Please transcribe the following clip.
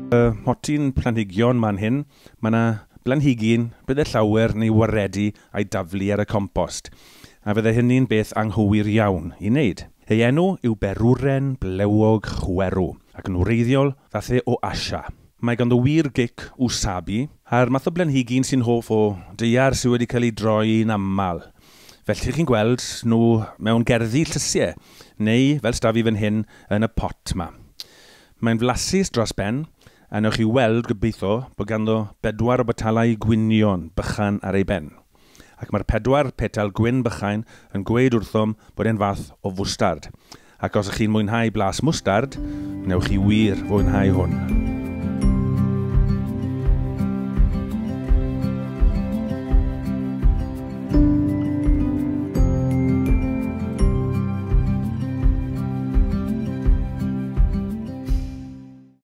Y mhotyn planhigion man hyn, mae yna blanhigyn bydde llawer neu waredu a'i daflu ar y compost, a fydde hynny'n beth anghywir iawn i wneud. Ei enw yw Berwren Blewog Chwerw, ac yn wreiddiol ddath e o Asia. Mae ganddo wir gic wasabi, a'r math o blanhigyn sy'n hoff o daear sydd wedi cael ei droi'n aml. Felly chi'n gweld nhw mewn gerddi llysiau, neu fel s'da fi fan hyn yn y pot 'ma. Mae'n flasus dros ben, a newch chi weld gobeithio bod ganddo bedwar o botalau gwynion bychan ar ei ben. Ac mae'r pedwar petal gwyn bychain yn gweud wrthom bod e'n fath o fwstard. Ac os ych chi'n mwynhau blas mwstard, newch chi wir fwynhau hwn.